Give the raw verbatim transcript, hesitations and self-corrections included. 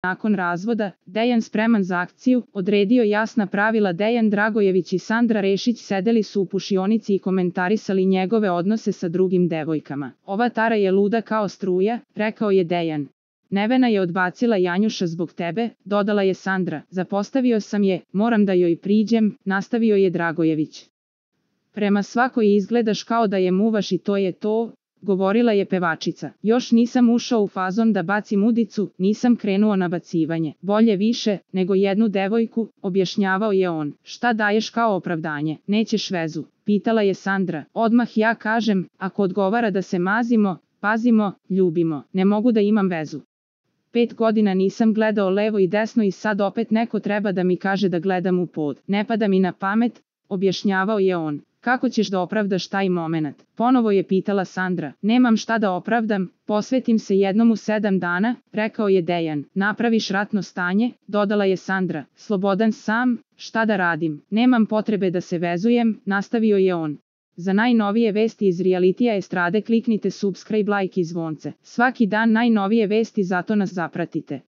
Nakon razvoda, Dejan spreman za akciju, odredio jasna pravila. Dejan Dragojević i Sandra Rešić sedeli su u pušionici i komentarisali njegove odnose sa drugim devojkama. Ova Tara je luda kao struja, rekao je Dejan. Nevena je odbacila Janjuša zbog tebe, dodala je Sandra. Zapostavio sam je, moram da joj priđem, nastavio je Dragojević. Prema svakoj izgledaš kao da je muvaš i to je to, govorila je pevačica. Još nisam ušao u fazon da bacim udicu, nisam krenuo na bacivanje. Bolje više, nego jednu devojku, objašnjavao je on. Šta daješ kao opravdanje? Nećeš vezu? Pitala je Sandra. Odmah ja kažem, ako odgovara da se mazimo, pazimo, ljubimo, ne mogu da imam vezu. Pet godina nisam gledao levo i desno i sad opet neko treba da mi kaže da gledam u pod. Ne pada mi na pamet, objašnjavao je on. Kako ćeš da opravdaš taj moment? Ponovo je pitala Sandra. Nemam šta da opravdam, posvetim se jednom u sedam dana, rekao je Dejan. Napraviš ratno stanje, dodala je Sandra. Slobodan sam, šta da radim? Nemam potrebe da se vezujem, nastavio je on. Za najnovije vesti iz realitija estrade kliknite subscribe, like i zvonce. Svaki dan najnovije vesti, zato nas zapratite.